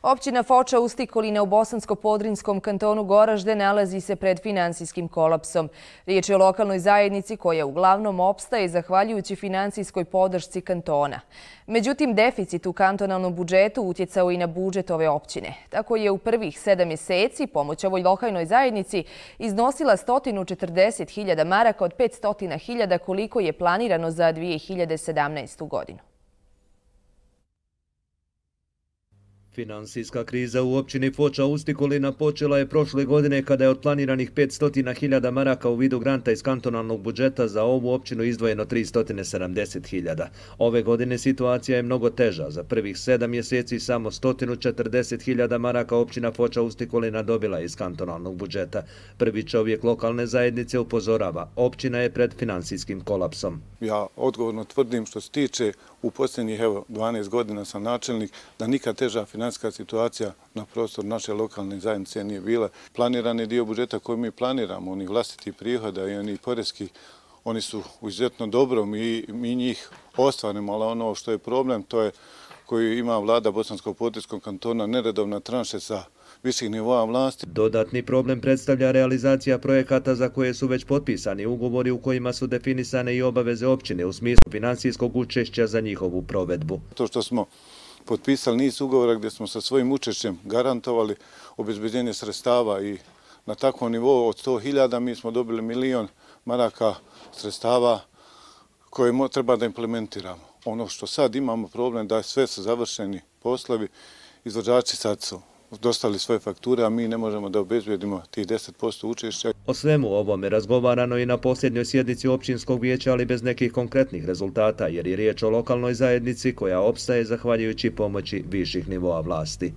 Općina Foča Ustikolina u Bosansko-Podrinjskom kantonu Goražde nalazi se pred finansijskim kolapsom. Riječ je o lokalnoj zajednici koja uglavnom opstaje zahvaljujući finansijskoj podršci kantona. Međutim, deficit u kantonalnom budžetu utjecao i na budžet ove općine. Tako je u prvih 7 mjeseci pomoć ovoj lokalnoj zajednici iznosila 140.000 maraka od 500.000 koliko je planirano za 2017. godinu. Finansijska kriza u općini Foča Ustikolina počela je prošle godine kada je od planiranih 500.000 maraka u vidu granta iz kantonalnog budžeta za ovu općinu izdvojeno 370.000. Ove godine situacija je mnogo teža. Za prvih 7 mjeseci samo 140.000 maraka općina Foča Ustikolina dobila iz kantonalnog budžeta. Prvi čovjek lokalne zajednice upozorava, općina je pred finansijskim kolapsom. Ja odgovorno tvrdim što se tiče u posljednjih 12 godina sam načelnik da nikad teža financijska situacija na prostoru naše lokalne zajednice nije bila. Planirani dio budžeta koji mi planiramo, oni vlastiti prihoda i oni poreski, oni su izuzetno dobro, mi njih ostvarimo, ali ono što je problem, to je koji ima vlada Bosansko-Podrinjskog kantona, neredovna tranše sa viših nivoa vlasti. Dodatni problem predstavlja realizacija projekata za koje su već potpisani ugovori u kojima su definisane i obaveze općine u smislu finansijskog učešća za njihovu provedbu. To što smo potpisali niz ugovora gdje smo sa svojim učešćem garantovali obezbeđenje sredstava i na takvom nivou od 100.000 mi smo dobili 1.000.000 maraka sredstava koje treba da implementiramo. Ono što sad imamo problem da sve su završeni poslovi, izvođači sad su dostavili svoje fakture, a mi ne možemo da obezbedimo tih 10% učešća. O svemu ovome razgovarano i na posljednjoj sjednici općinskog vijeća, ali bez nekih konkretnih rezultata, jer je riječ o lokalnoj zajednici koja opstaje zahvaljujući pomoći viših nivoa vlasti.